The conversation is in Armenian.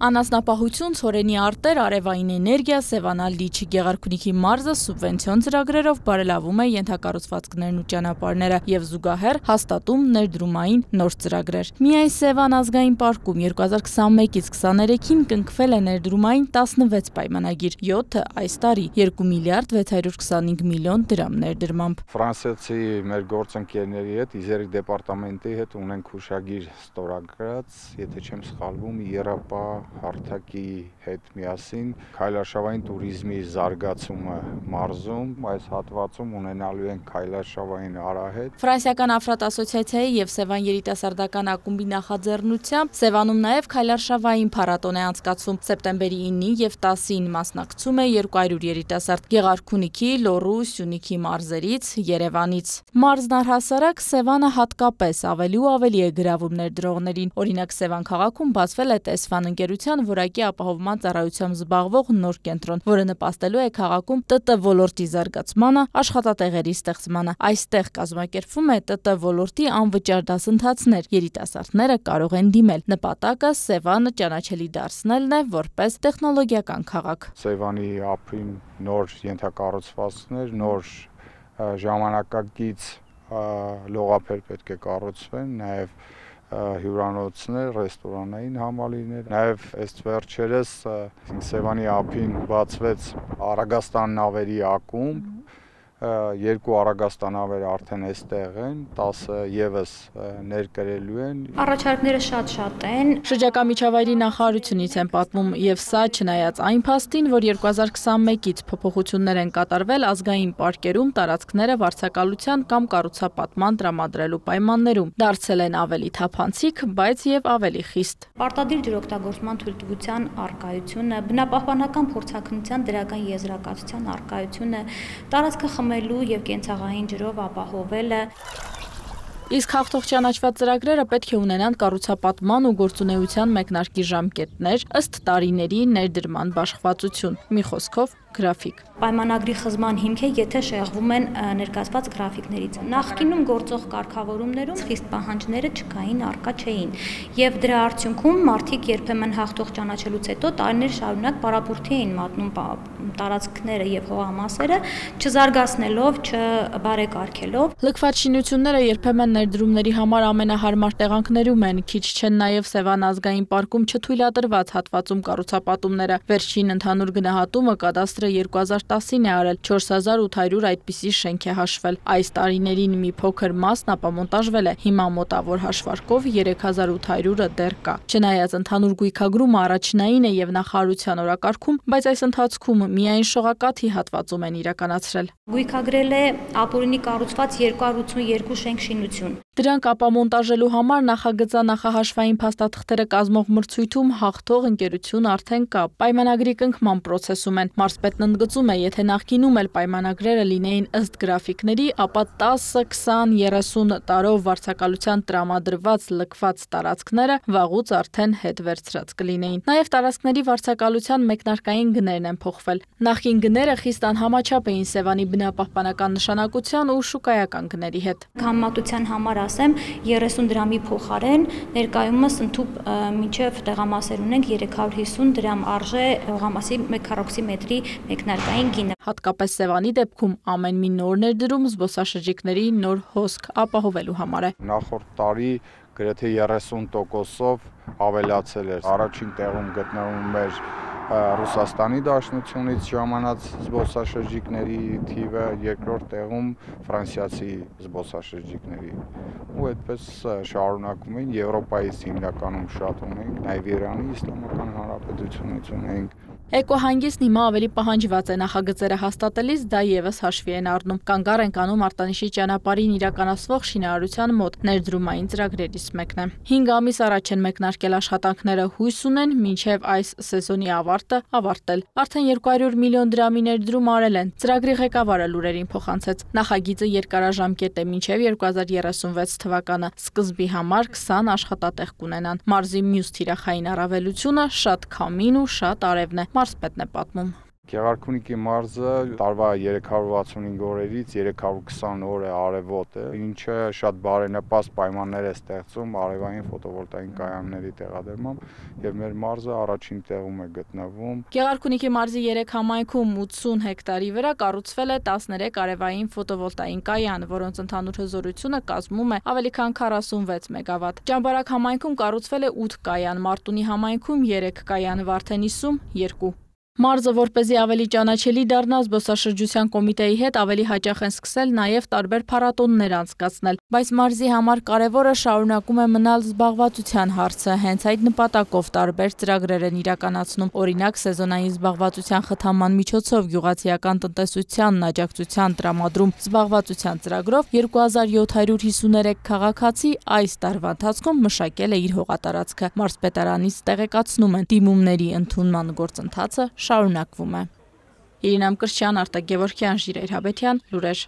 Անասնապահություն, ցորենի արտեր, արևային էներգիա, Սևանալ լիճի Գեղարքունիքի մարզը սուբվենցիոն ծրագրերով բարելավում է ենթակառուցվածքներն ու ճանապարհները եւ զուգահեռ հաստատում ներդրումային նոր ծրագրեր։ Միայն Սևան ազգային պարկում 2021-ից 23-ին կնքվել է ներդրումային 16 պայմանագիր, 7-ը այս տարի 2 միլիարդ 625 միլիոն դրամ ներդրմամբ։ Ֆրանսիացի մեր գործընկերների հետ, Իզերի դեպարտամենտի հետ ունենք հուշագիր ստորագրած, եթե չեմ սխալվում, Երապա հարթակի հետ միասին քայլարշավային туриզմի զարգացումը մարզում, այս հատվածում ունենալու են քայլարշավային արահետ։ Ֆրանսիական Աֆրատ ասոցիացիայի եւ Սևան երիտասարդական ակումբի նախաձեռնությամբ Սևանում նաեւ քայլարշավային փառատոն է անցկացվում։ Սեպտեմբերի 9-ին եւ 10-ին մասնակցում է 200 երիտասարդ Գեղարքունիքի, Լոռու, Սյունիքի մարզերից, Երևանից։ Մարզն առհասարակ Սևանը հատկապես ավելի ու ավելի է գրավում ներդրողներին։ Օրինակ Սևան քաղաքում բացվել է Տեսֆան ընկերության որակի ապահովման ծառայությամբ զբաղվող նոր կենտրոն, որը նպաստելու է քաղաքում ՏՏ ոլորտի զարգացմանը, աշխատատեղերի ստեղծմանը։ Այստեղ կազմակերպվում է ՏՏ ոլորտի անվճար դասընթացներ, երիտասարդները կարող են դիմել։ Նպատակը Սևանը ճանաչելի դարձնելն է որպես տեխնոլոգիական քաղաք։ Սևանի ափին նոր ենթակառուցվածքներ, նոր ժամանակակից լողափեր պետք է կառուցվեն, նաև հյուրանոցներ, ռեստորանային համալիրներ, նաև այս վերջերս Սևանի ափին բացվեց Արագաստան նավերի ակումբ, 2 Արագաստան նավեր արդեն այստեղ են, 10 եւս ներկրելու են։ Առաջարկները շատ են։ Շրջակա միջավայրի նախարարությունից են պատմում եւ սա չնայած այն փաստին, որ 2021-ից փոփոխություններ են կատարվել ազգային պարկերում տարածքները վարձակալության կամ կառուցապատման տրամադրելու պայմաններում, դարձել են ավելի թափանցիկ, բայց եւ ավելի խիստ։ Պարտադիր ջրօգտագործման թույլտվության առկայությունը, բնապահպանական փորձաքննության դրական եզրակացության առկայությունը, տարածքը խմելու եւ կենցաղային ջրով ապահովելը։ Իսկ հաղթող ճանաչված ծրագրերը պետք է ունենան կառուցապատման ու գործունեության մեկնարկի ժամկետներ, ըստ տարիների ներդրման բաշխվածություն, մի խոսքով գրաֆիկ։ Պայմանագրի խզման հիմք է, եթե շեղվում են ներկայացված գրաֆիկներից։ Նախկինում գործող կարգավորումներում խիստ պահանջները չկային, առկա չէին, եւ դրա արդյունքում մարդիկ երբեմն հաղթող ճանաչելուց հետո տարիներ շարունակ պարապուրդի էին մատնում տարածքները եւ հողամասերը, չզարգացնելով, չբարեկարգելով։ Լքված շինությունները երբեմն ներդրումների համար ամենահարմար տեղանքներում են, քիչ չեն նաեւ Սևան ազգային պարկում չթույլատրված հատվածում կառուցապատումները։ Վերջին ընդհանուր գնահատումը կադաստրը 2010-ին է արել, 4800 այդպիսի շենք է հաշվել։ Այս տարիներին մի փոքր մասն ապամոնտաժվել է, հիմա մոտավոր հաշվարկով 3800-ը դեռ կա։ Չնայած ընդհանուր գույքագրումը առաջնային է եւ նախարարության օրակարգում, բայց այս ընթացքում միայն շողակաթի հատվածում են իրականացրել։ Գույքագրել է ապօրինի կառուցված 282 շենք շինություն։ Դրանք ապամոնտաժելու համար նախագծանախահաշվային փաստաթղթերը կազմող մրցույթում հաղթող ընկերություն արդեն կա։ Պայմանագրի կնքման process-ում են։ Մարզպետն ընդգծում է, եթե նախկինում էլ պայմանագրերը լինեին ըստ գրաֆիկների, ապա 10, 20, 30 տարով վարձակալության տրամադրված լքված տարածքները վաղուց արդեն հետ վերցրած կլինեին։ Նաև տարածքների վարձակալության մեկնարկային գներն են փոխվել։ Նախկին գները խիստ անհամաչափ էին Սևանի բնապահպանական նշանակության ու շուկայական գների հետ։ Համեմատության համար ասեմ 30 դրամի փոխարեն ներկայումս ընդհուպ մինչև տեղամասեր ունենք 350 դրամ արժե հողամասի 1 քառակուսի մետրի մեկնարկային գինը։ Հատկապես Սևանի դեպքում ամեն մի նոր ներդրում զբոսաշրջիկների նոր հոսք ապահովելու համար է։ Նախորդ տարի գրեթե 30%-ով ավելացել էր։ Առաջին տեղում գտնվում էր Ռուսաստանի Դաշնությունից ժամանած զբոսաշրջիկների թիվը, երկրորդ տեղում ֆրանսիացի զբոսաշրջիկների։ Ու այդպես շարունակում են, Եվրոպայից հիմնականում շատ ունենք, նաև Իրանի Իսլամական Հանրապետությունից ունենք։ Էկոհանգիստն հիմա ավելի պահանջված է նախագծերը հաստատելիս, դա եւս հաշվի են առնում։ Կանգառ են կանում Արտանիշի ճանապարհին իրականացվող շինարարության մոտ ներդրումային ծրագրերից մեկն է։ 5 ամիս առաջ են մեկնարկել աշխատանքները, հույս ունեն մինչև այս սեզոնի ավարտը ավարտել։ Արդեն 200 միլիոն դրամի ներդրում արել են։ Ծրագրի ղեկավարը լուրերին փոխանցեց։ Նախագիծը երկարաժամկետ է մինչև 2036 թվականը։ Սկզբի համար 20 աշխատատեղ կունենան։ Մարզի մյուս թիրախային առավելությունը շատ քամին ու շատ արևն է։ Մարզպետն է պատմում։ Գեղարքունիքի մարզը տարվա 365 օրերից 320 օրը արևոտ է, ինչը շատ բարենպաստ պայմաններ է ստեղծում արևային ֆոտովոլտային կայանների տեղադրմամբ, եւ մեր մարզը առաջին տեղում է գտնվում։ Գեղարքունիքի մարզի 3 համայնքում 80 հեկտարի վրա կառուցվել է 13 արևային ֆոտովոլտային կայան, որոնց ընդհանուր հզորությունը կազմում է ավելի քան 46 մեգավատ։ Ճամբարակ համայնքում կառուցվել է 8 կայան, Մարտունի համայնքում 3 կայան, Վարդենիսում 2։ Մարզը, որպեսզի ավելի ճանաչելի դառնա, զբոսաշրջության կոմիտեի հետ ավելի հաճախ են սկսել նաև տարբեր փառատոններ անցկացնել, բայց մարզի համար կարևորը շարունակում է մնալ զբաղվածության հարցը, հենց այդ նպատակով տարբեր ծրագրեր են իրականացնում, օրինակ սեզոնային զբաղվածության խթանման միջոցով գյուղացիական տնտեսությանն աջակցության տրամադրում զբաղվածության ծրագրով 2753 քաղաքացի այս տարվա ընթացքում մշակել է իր հողատարածքը, մարզպետարանից տեղեկացնում են, դիմումների ընդունման գործընթացը շարունակվում է։ Իրինա Մկրտչյան, Արտակ Գևորգյան, Ժիրայր Հաբետյան, լուրեր։